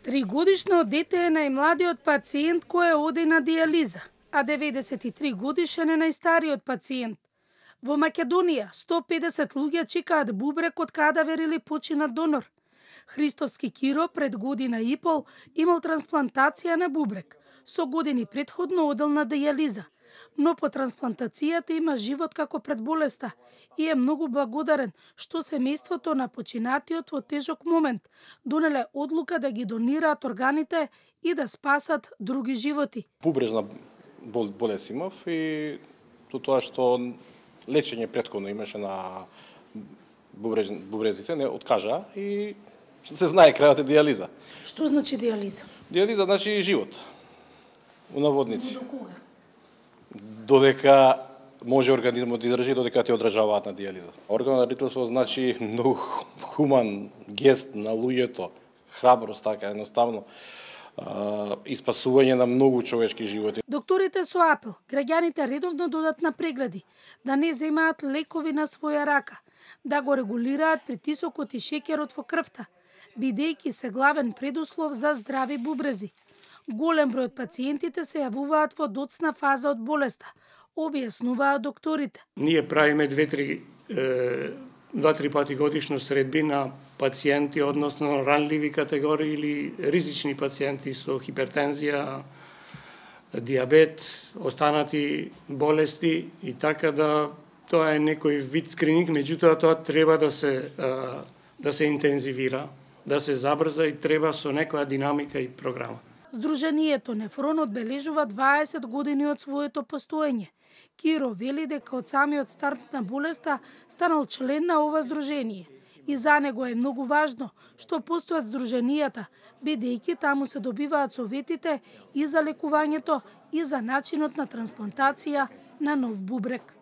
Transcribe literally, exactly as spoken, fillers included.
Тригодишно дете е најмладиот пациент кој оди на дијализа, а деветдесет и три годишен е најстариот пациент. Во Македонија сто и педесет луѓе чекаат бубрек од кадавер или починат донор. Христовски Киро пред година и пол имал трансплантација на бубрек. Со години претходно одел на дијализа, но по трансплантацијата има живот како пред болеста и е многу благодарен што семејството на починатиот во тежок момент донеле одлука да ги донираат органите и да спасат други животи. Бубрежна бол, болест имав и со тоа што лечење претходно имаше на бубреж, бубрезите не откажа и се знае крајот е дијализа. Што значи дијализа? Дијализа значи живот. У наводници. До кога? Додека може организмот да издржи, додека те одржаваат на дијализа. Органот на родителство значи многу хуман гест на луѓето, храброст, така едноставно, и спасување на многу човечки животи. Докторите со апел граѓаните редовно додат на прегледи, да не земаат лекови на своја рака, да го регулираат притисокот и шеќерот во крвта, бидејќи се главен предуслов за здрави бубрези. Голем број од пациентите се јавуваат во доцна фаза од болеста, објаснуваат докторите. Ние правиме две-три два-три пати годишно средби на пациенти, односно ранливи категории или ризични пациенти со хипертензија, дијабет, останати болести и така да тоа е некој вид скрининг, меѓутоа тоа треба да се да се интензивира, да се забрза и треба со некоја динамика и програма. Сдруженијето Нефрон одбележува дваесет години од своето постоење. Киро вели дека од самиот старт на болеста станал член на ова здружение. И за него е многу важно што постојат здруженијата, бидејќи таму се добиваат советите и за лекувањето и за начинот на трансплантација на нов бубрек.